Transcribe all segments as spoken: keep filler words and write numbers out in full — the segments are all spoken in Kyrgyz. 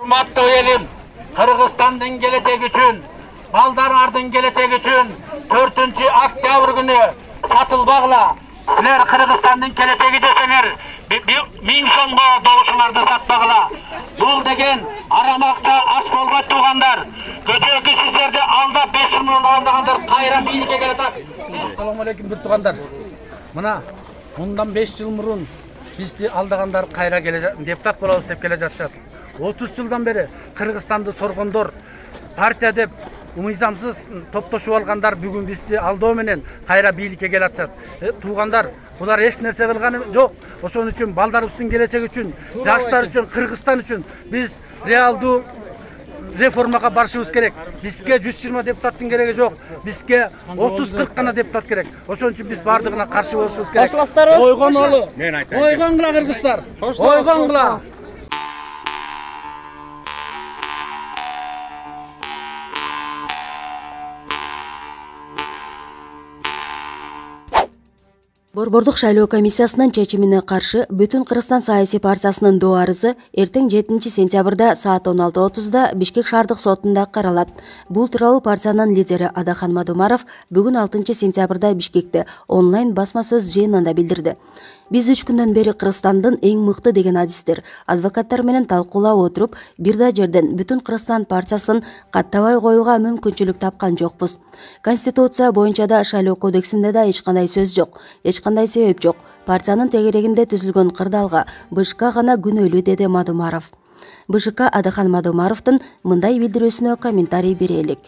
Урматтуу элим, Кыргызстандын келечеги үчүн, балдарыңардын келечеги үчүн төртүнчү октябрь күнү сатылбагыла. Силер Кыргызстандын келечеги десеңер, миң сомго добушуңарды сатпагыла. Бул деген арамакча аш болбойт туугандар. Көчөгү сиздерди алдап беш жүз миң алгандар кайра бийликке келатат. Ассаламу алейкум бир туугандар. Мына мындан беш жыл мурун бизди алдагандар кайра келе депутат болобуз деп келе жатышат. отуз жылдан бери Кыргызстанды соргондор, партия деп мыйзамсыз топтошуп алгандар бүгүн бизди алдоо менен кайра бийликке келе атышат. Туугандар, булар эч нерсе кылганы жок. Ошон үчүн балдарыбыздын келечеги үчүн, жаштар үчүн, Кыргызстан үчүн биз реалдуу реформага барышыбыз керек. Бизге жүз жыйырма депутаттын кереги жок. Бизге отуз кырк гана депутат керек. Ошон үчүн биз бардыгына каршы болушубуз керек. Ойгонолу. Ойгонгула кыргыздар. Ойгонгула. Борбордук шайлоо комиссиясынын чечимине каршы Бүтүн Кыргызстан саясий партиясынын доо арызы эртең жетинчи сентябрда саат он алты отузда Бишкек шаардык сотунда каралат. Бул тууралуу партиянын лидери Адахан Мадумаров бүгүн алтынчы сентябрда Бишкекте онлайн басма сөз жыйынында билдирди. Биз үч күндөн бери Кыргызстандын эң мыкты деген адистер, адвокаттар менен талкуулап отуруп, бир да жерден Бүтүн Кыргызстан партиясын каттабай коюуга мүмкүнчүлүк тапкан жокпуз. Конституция боюнча да, шайлоо кодексинде да эч кандай сөз жок, эч кандай себеп жок. Партиянын тегерегинде түзүлгөн кырдаалга БШК гана күнөөлүү, деди Мадумаров. БШК Адахан Мадумаровдун мындай билдирүүсүнө комментарий берелик.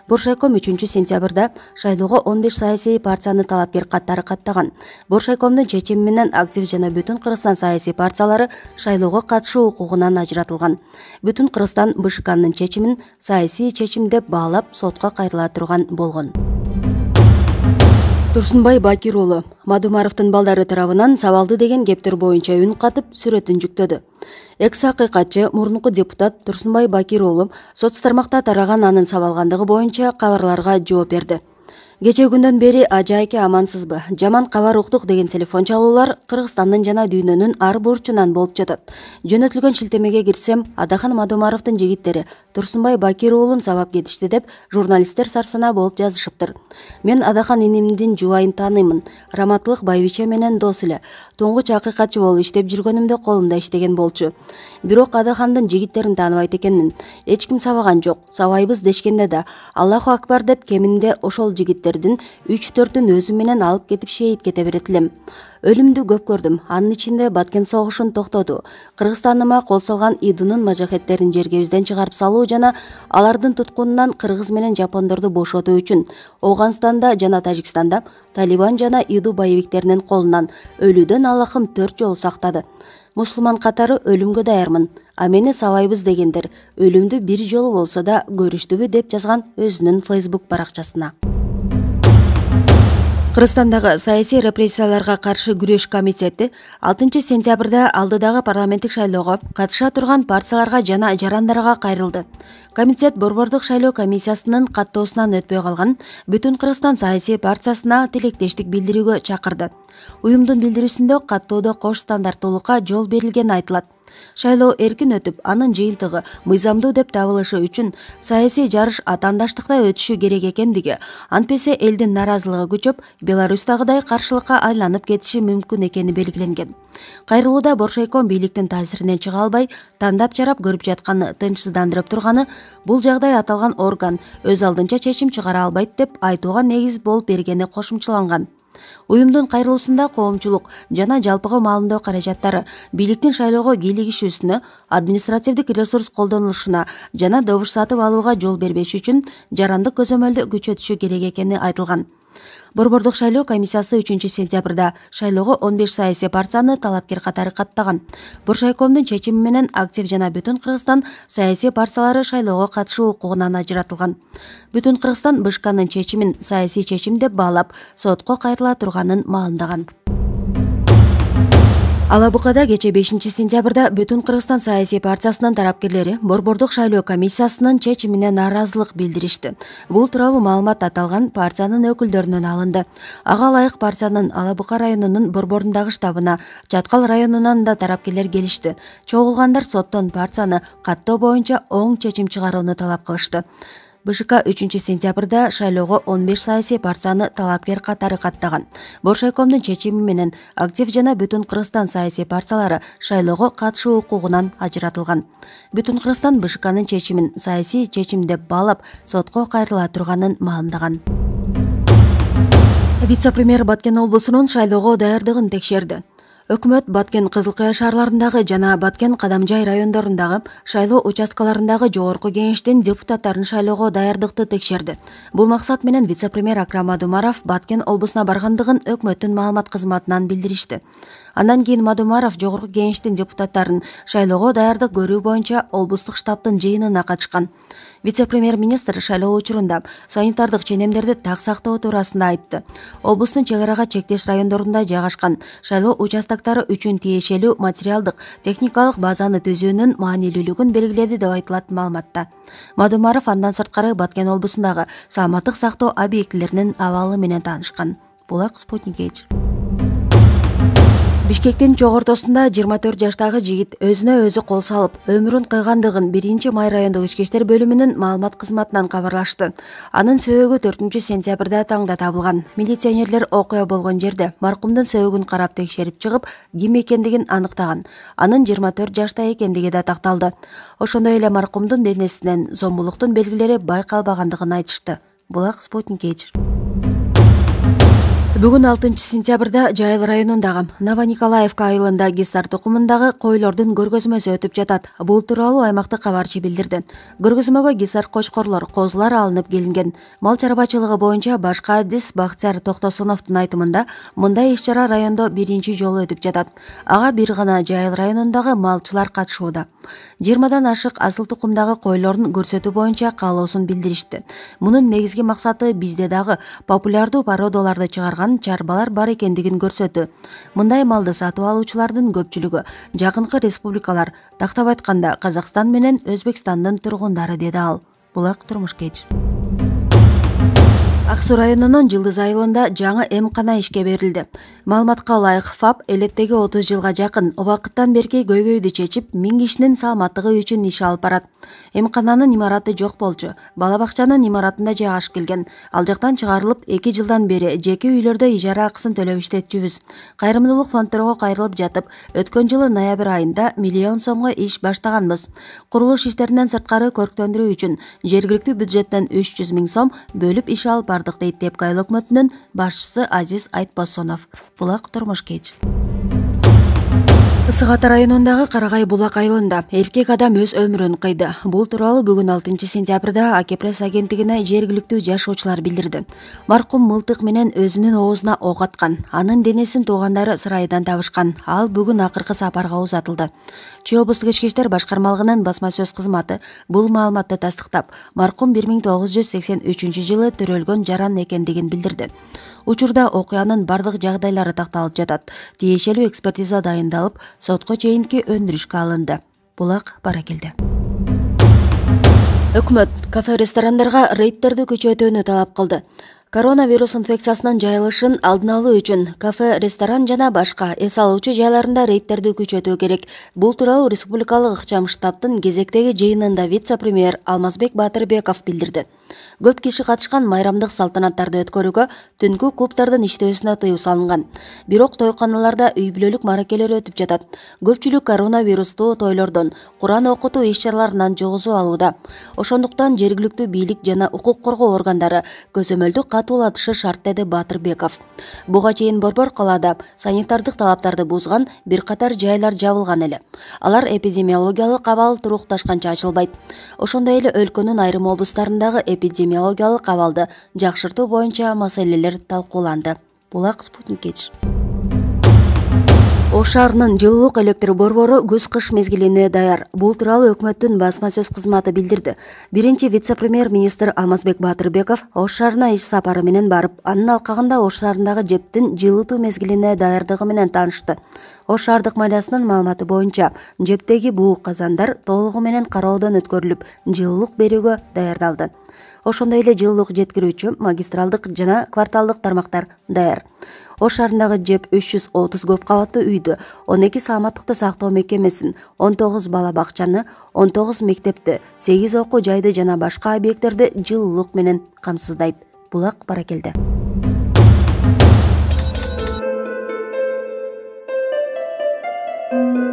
Боршайком үчүнчү сентябрда шайлоого он беш саясий партияны талапкер каттары каттаган. Боршайкомдун чечими менен актив жана Бүтүн Кыргызстан саясий партиялары шайлоого катышуу укугунан ажыратылган. Бүтүн Кыргызстан БШКнын чечимин саясий чечим деп баалап сотко кайрыла турган болгон. Турсунбай Бакир уулу Мадумаровдун балдары тарабынан сабалды деген кептер боюнча үн катып, сүрөтүн жүктөдү. Экс акыйкатчы мурунку депутат Турсунбай Бакир уулу соц тармакта тараган анын сабалгандыгы боюнча кабарларга жооп берди. Кече күндөн бери ажайке амансызбы, жаман кабар уктук деген телефон чалуулар Кыргызстандын жана дүйнөнүн ар бурчунан болуп жатат. Жөнөтүлгөн шилтемеге кирсем, Адахан Мадумаровдун жигиттери Турсунбай Бакир уулун сабап кетишти деп журналисттер сарсана болуп жазышыптыр. Мен Адахан инимдин жубайын тааныймын. Раматылык Байбиче менен дос эле. Тоңгуч акыйкатчы болуп иштеп жүргөнүмдө колумда иштеген болчу. Бирок Адахандын жигиттерин тааныбайт экенмин. Эч ким сабаган жок. Сабайбыз дешкенде да Аллаху акбар деп кеминде ошол жигиттердин үч төртүн өзүм менен алып кетип шейит кете берет элем. Өлүмдү көп көрдүм. Анын ичинде Баткен согушун токтотуу, Кыргызстаныма кол салган идунун мажахеттерин жергебизден чыгарып салуу жана алардын туткунунан кыргыз менен жапондорду бошотуу үчүн Ооганстанда жана Тажикстанда Талибан жана иду боевиктеринин колунан өлүүдөн Аллахым төрт жолу сактады. Мусулман катары өлүмгө даярмын. А мени сабайбыз дегендер өлүмдү бир жолу болсо да көрүштүбү деп жазган өзүнүн Facebook баракчасына. Кыргызстандагы саясий репрессияларга каршы күрөш комитети алтынчы сентябрда алдыдагы парламенттик шайлоого катыша турган партияларга жана жарандарга кайрылды. Комитет Борбордук шайлоо комиссиясынын каттоосунан өтпөй калган Бүтүн Кыргызстан саясий партиясына тилектештик билдирүүгө чакырды. Уюмдун билдирүүсүндө каттоодо кош стандарттуулукка жол берилгени айтылат. Шайлоо эркин өтүп, анын жыйынтыгы мыйзамдуу деп табылышы үчүн саясий жарыш атаандаштыкта өтүшү керек экендиги, антпесе элдин наразылыгы күчөп, Беларусьтагыдай каршылыкка айланып кетиши мүмкүн экени белгиленген. Кайрылууда Боршайком бийликтин таасиринен чыга албай, тандап жарап көрүп жатканы тынчсыздандырып турганы, бул жагдай аталган орган өз алдынча чечим чыгара албайт деп айтууга негиз болуп бергени кошумчаланган. Уюмдун кайрылуусунда коомчулук жана жалпыга маалымдоо каражаттары бийликтин шайлоого кийлигишүүсүнө, административдик ресурс колдонулушуна жана добуш сатып алууга жол бербеш үчүн жарандык көзөмөлдү күчөтүшү керек экени айтылган. Борбордук шайлоо комиссиясы үчүнчү сентябрда шайлоого он беш саясий партияны талапкер катары каттаган. Боршайкомдун чечими менен актив жана Бүтүн Кыргызстан саясий партиялары шайлоого катышуу укугунан ажыратылган. Бүтүн Кыргызстан БШКнын чечимин саясий чечим деп баалап, сотко кайрыла турганын маалымдаган. Ала Букада кечээ бешинчи сентябрда Бүтүн Кыргызстан саясий партиясынын тарапкерлери Борбордук шайлоо комиссиясынын чечимине нааразылык билдиришти. Бул тууралуу маалымат аталган партиянын өкүлдөрүнөн алынды. Ага ылайык партиянын Ала Бука районунун борборундагы штабына Чаткал районунан да тарапкерлер келишти. Чогулгандар соттон партияны каттоо боюнча оң чечим чыгарууну талап кылышты. БШК үчүнчү сентябрда шайлоого он беш саясий партияны талапкер катары каттаган. Боршайкомдун чечими менен Актив жана Бүтүн Кыргызстан саясий партиялары шайлоого катышуу укугунан ажыратылган. Бүтүн Кыргызстан БШКнын чечимин саясий чечим деп баалап, сотко кайрыла турганын маалымдаган. Вице-премьер Баткен облусунун шайлоого даярдыгын текшерди. Өкмөт Баткен Кызыл Кая шаарларындагы жана Баткен Кадамжай райондорундагы шайлоо участкаларындагы жогорку кеңештин депутаттарын шайлоого даярдыкты текшерди. Бул максат менен вице-премьер Акрам Адумаров Баткен облусуна баргандыгын өкмөттүн маалымат кызматынан билдиришти. Андан кийин Мадумаров жогорку кеңештин депутаттарын шайлоого даярдык көрүү боюнча облустук штабтын жыйынына катышкан. Вице-премьер-министр шайлоо учурунда санитардык ченемдерди так сактоо туурасында айтты. Облустун чек арага чектеш райондорунда жайгашкан шайлоо участоктары үчүн тиешелүү материалдык, техникалык базаны түзүүнүн маанилүүлүгүн белгиледи деп айтылат маалыматта. Мадумаров андан сырткары Баткен облусундагы саламаттык сактоо объектилеринин абалы менен таанышкан. Булак Спутник Эйч. Бишкектин чогортосунда жыйырма төрт жаштагы жигит өзүнө өзү кол салып, өмүрүн кыйгандыгын биринчи май райондук ички иштер бөлүмүнүн маалымат кызматынан кабарлашты. Анын сөөгү төртүнчү сентябрда таңда табылган. Милиционерлер окуя болгон жерде маркумдун сөөгүн карап текшерип чыгып, ким экендигин аныктаган. Анын жыйырма төрт жашта экендиги да такталды. Ошондой эле маркумдун денесинен зомбулуктун белгилери байкалбагандыгын айтышты. Булак Спутник Эйч. Бүгүн алтынчы сентябрда Жайыл районундагы Новониколаевка айылында гисар тукумундагы койлордун көргөзмөсү өтүп жатат. Бул тууралуу аймактык кабарчы билдирди. Көргөзмөгө гисар кочкорлор, козулар алынып келинген. Мал чарбачылыгы боюнча башкы адис Бактияр Токтосуновдун айтымында мындай иш-чара райондо биринчи жолу өтүп жатат. Ага бир гана Жайыл районундагы малчылар катышууда. жыйырмадан ашык асыл тукумдагы койлорун көрсөтүү боюнча каалоосун билдиришти. Мунун негизги максаты бизде дагы популярдуу породаларды чыгарган чарбалар бар экендигин көрсөтүү. Мындай малды сатып алуучулардын көпчүлүгү жакынкы республикалар, тактап айтканда Казакстан менен Өзбекстандын тургундары, деди ал. Булак Турмуш Кеч. Ак Суу районунун Жылдыз айылында жаңы эмкана ишке берилди. Маалыматка ылайык, ФАП элеттеги отуз жылга жакын убакыттан берки көйгөйдү чечип, миң кишинин саламаттыгы үчүн иш алып барат. Эмкананын имараты жок болчу. Бала бакчанын имаратында жайгашып келген. Ал жактан чыгарылып, эки жылдан бери жеке үйлөрдө ижара акысын төлөп иштетчүбүз. Кайрымдуулук фондторго кайрылып жатып, өткөн жылы ноябрь айында миллион сомго иш баштаганбыз. Курулуш иштеринен сырткары көрктөндүрүү үчүн жергиликтүү бюджеттен үч жүз миң сом бөлүп иш алып бардык, дейт Тепки айыл өкмөтүнүн башчысы Азиз Айтбосонов. Булак Турмуш Кеч. Ысык Ата районундагы Карагай Булак айылында эркек адам өз өмүрүн кыйды. Бул тууралуу бүгүн алтынчы сентябрда АК пресс агенттигине жергиликтүү жашоочулар билдирди. Маркум мылтык менен өзүнүн оозуна ок аткан. Анын денесин туугандары сырайдан табышкан. Ал бүгүн акыркы сапарга узатылды. Чүй облустук ички иштер башкармалыгынын басма сөз кызматы бул маалыматты тастыктап, маркум бир миң тогуз жүз сексен үчүнчү жылы төрөлгөн жаран экендигин билдирди. Учурда окуянын бардык жагдайлары такталып жатат. Тиешелүү экспертиза дайындалып, сотко чейинки өндүрүшкө алынды. Булак Баракелде. Өкмөт кафе-ресторандарга рейдтерди күчөтүүнү талап кылды. Коронавирус инфекциясынын жайылышын алдын алуу үчүн кафе, ресторан жана башка эс алуучу жайларында рейдтерди күчөтүү керек. Бул тууралуу республикалык ыкчам штабтын кезектеги жыйынында вице-премьер Алмазбек Батырбеков билдирди. Көп киши катышкан майрамдык салтанаттарды өткөрүүгө түнкү клубдардын иштөөсүнө тыюу салынган. Бирок тойканаларда үй бүлөлүк маракелер өтүп жатат. Көпчүлүк коронавирустуу тойлордон, Куран окутуу иш-чараларынан жогузуу алууда. Ошондуктан жергиликтүү бийлик жана укук коргоо органдары көзөмөлдү катуулатышы шарт, деди Батырбеков. Буга чейин Борбор калаада санитардык талаптарды бузган бир катар жайлар жабылган эле. Алар эпидемиологиялык абал турукташканча ачылбайт. Ошондой эле өлкөнүн айрым облустарындагы эпидемиологиялык абалды жакшыртуу боюнча маселелер талкууланды. Булак Спутник Эйч. Ош шаарынын жылуулук электр борбору күз-кыш мезгилине даяр. Бул тууралуу өкмөттүн басма сөз кызматы билдирди. Биринчи вице-премьер-министр Алмазбек Батырбеков Ош шаарына иш сапары менен барып, анын алкагында Ош шаарындагы жептин жылытуу мезгилине даярдыгы менен таанышты. Ош шаардык мэриясынын маалыматы боюнча жептеги буу казандар толугу менен кароодон өткөрүлүп, жылуулук берүүгө даярдалды. Ошондой эле жылуулук жеткирүүчү магистралдык жана кварталдык тармактар даяр. Ош шаарындагы ЖЭП үч жүз отуз көп кабаттуу үйдү, он эки саламаттыкты сактоо мекемесин, он тогуз бала бакчаны, он тогуз мектепти, сегиз окуу жайды жана башка объекттерди жылуулук менен камсыздайт. Булак Баракелде. Thank you.